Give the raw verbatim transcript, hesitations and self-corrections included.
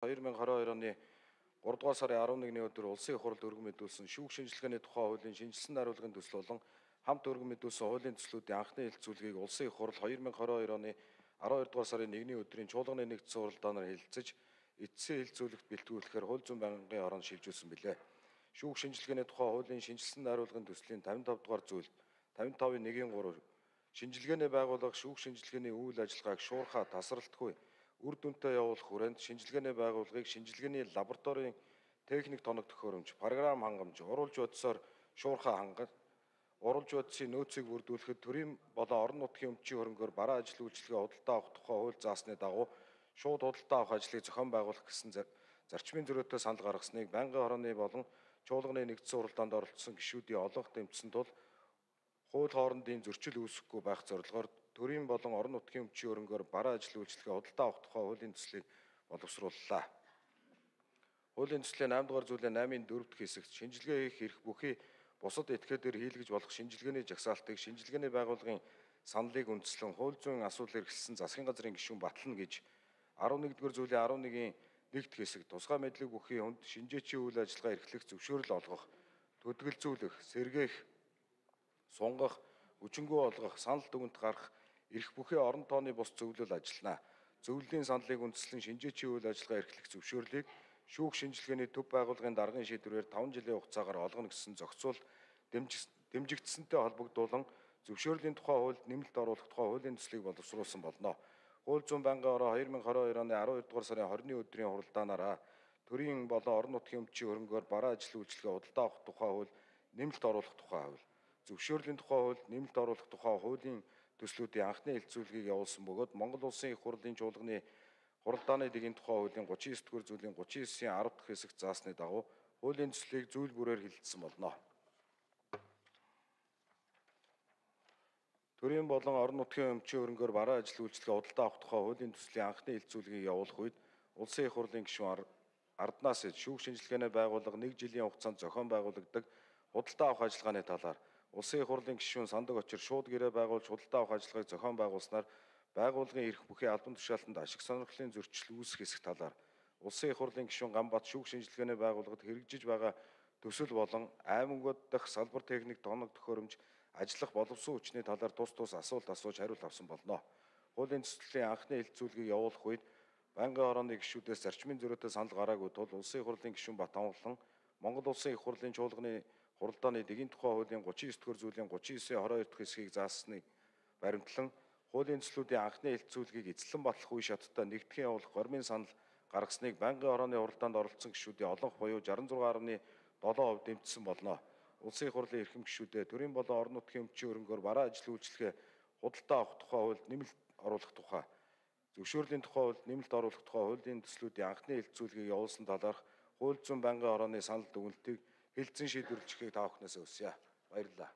хоёр мянга хараа хоёр оны гурав дугаар сарын арван нэгний өдөр улсын их хурлд өргөн мэдүүлсэн шүүх шинжилгээний тухай хуулийн шинжилсэн хариулгын төсөл болон хамт өргөн мэдүүлсэн хуулийн төслүүдийн анхны хэлэлцүүлгийг улсын их хурл хоёр мянга хараа хоёр оны аравдугаар дугаар сарын нэгний өдрийн чуулганы нэгдсэн уралдаанаар хэлэлцэж эцсийн хэлэлцүүлэгт бэлтгүүлэхээр хууль зүйн байнгын орон шилжүүлсэн билээ. Шүүх шинжилгээний тухай хуулийн шинжилсэн хариулгын төслийн тавин тав дугаар зүйл тавин тавын нэг гурав шинжилгээний байгууллага шүүх шинжилгээний үйл ажиллагааг шуурхаа тасралтгүй үр дүнтэй явуулах хүрээнд шинжилгээний байгууллагыг шинжилгээний лабораторийн техник тоног төхөөрөмж, програм хангамж, уруулж бодсоор шуурхаа хангах, уруулж бодсын нөөцийг бүрдүүлэхэд төрийн болон орон нутгийн өмчийн хөрөнгөөр бараа ажил үйлчилгээ худалдаа авах тухай хууль заасны дагуу шууд худалдаа авах ажлыг зохион байгуулах гэсэн зарчмын зөрүүтэй санал гаргасныг байнгын хорооны болон чуулганы нэгдсэн уралдаанд оролцсон гишүүдийн олонх дэмжсэн тул хууль хоорондын зөрчил үүсэхгүй байх зорилгоор төрийн болон орон нутгийн өмчийн хөрөнгөөр бараа ажил үйлчилгээ худалдаа авах тухай хуулийн төслийг боловсрууллаа. Хуулийн төслийн наймдугаар зүйлийн наймын дөрөв дэх хэсэгт шинжилгээ хийх эрх бүхий бусад этгээдээр хийлгэж болох шинжилгээний жагсаалтыг шинжилгээний байгууллагын саналыг үндэслэн хууль зүйн асуудал эрхэлсэн засгийн газрын гишүүн батлана гэж арван нэгдүгээр зүйлийн арван нэгний нэг дэх хэсэг тусгай мэдлэг бүхий хүнд шинжээчийн үйл ажиллагаа эрхлэх зөвшөөрөл олгох, төдөлзүүлэх, сэргээх, сунгах, хүчингү олгох, санал дүгнэлт гарах эрх бүхий орон тооны бус зөвлөл ажиллана. Зөвлөлийн саналыг үндэслэн шинжээчийн үйл ажиллагаа эрхлэх зөвшөөрлийг шүүх шинжилгээний төв байгууллагын даргын шийдвэрээр таван жилийн хугацаагаар олгоно гэсэн зохицуул дэмжигдсэнтэй холбогдуулан зөвшөөрлийн тухай хуульд нэмэлт оруулах тухай хуулийн төслийг боловсруулсан болно. Хууль зүйн байнгын ороо хоёр мянга хараа хоёр оны аравдугаар дугаар сарын хорины өдрийн хуралдаанаараа төрийн болон орон нутгийн өмчийн хөрөнгөөр бараа ажил үйлчилгээ худалдаа авах тухай хууль нэмэлт оруулах тухай хууль, зөвшөөрлийн тухай хуульд нэмэлт оруулах тухай хуулийн төслүүдийн анхны хэлэлцүүлгийг явуулсан бөгөөд Монгол Улсын их хурлын чуулганы хуралдааны дэгийн тухай хуулийн гучин эсрэг дугаар зүйлийн гучин эсийн арав дахь хэсэгт заасны дагуу хуулийн төслийг зүйл бүрээр хэлэлцсэн болно. Төрийн болон орон нутгийн өмчийн хөрөнгөөр бараа ажил үйлчилгээ худалдаа авах тухай хуулийн төслийн анхны хэлэлцүүлгийг явуулах үед Улсын их хурлын гишүүн Арднаас шүүх шинжилгээний байгууллага нэг жилийн хугацаанд зохион байгуулагддаг худалдаа авах ажиллагааны талаар Улсын их хурлын гишүүн Сандаг Очир шууд гэрээ байгуулж худалдаа авах ажиллагааг зохион байгуулснаар байгууллагын эрх бүхий албан тушаалтанд ашиг сонирхлын зөрчил үүсэх хэсэг талаар Улсын их хурлын гишүүн Ганбат шүүх шинжилгээний байгууллагад хэрэгжиж байгаа төсөл болон аймагуд дахь салбар техник тоног төхөөрөмж ажиллах боловсон хүчний талаар тус тус асуулт асууж хариулт авсан болно. Хуулийн төслийн анхны хэлэлцүүлгийг явуулах үед байнгын хорооны гишүүдээс зарчмын зөрүүтэй санал гараагүй тул Улсын их хурлын гишүүн Батамглан Монгол Улсын их хурлын чуулганы хуралдааны дэгийн тухай хуулийн гучин эсрэг дугаар зүйлийн гучин эсийн хороо хоёр дахь хэсгийг заасныг баримтлан хуулийн төслүүдийн анхны хэлэлцүүлгийг эзлэн батлах үе шаттай нэгтгэн явуулах гормын санал гаргасныг байнгын хорооны хуралдаанд оролцсон гишүүдийн олонх буюу шестдесет и шесть гаруй долоо хувь дэмжсэн болно. Улсын их хурлын эрхэм гишүүдээ төрийн болон орон нутгийн өмчийн хөрөнгөөр бараа ажил үйлчилгээ худалдаа авах тухай хуульд нэмэлт оруулах тухай, зөвшөөрлийн тухай хуульд нэмэлт оруулах тухай хуулийн төслүүдийн анхны хэлэлцүүлгийг явуулсан талаарх хууль зүйн байнгын хорооны санал дүгнэлтийг хэлэлцэн шийдвэрлэхийг та бүхнээс хүсье. Баярлалаа.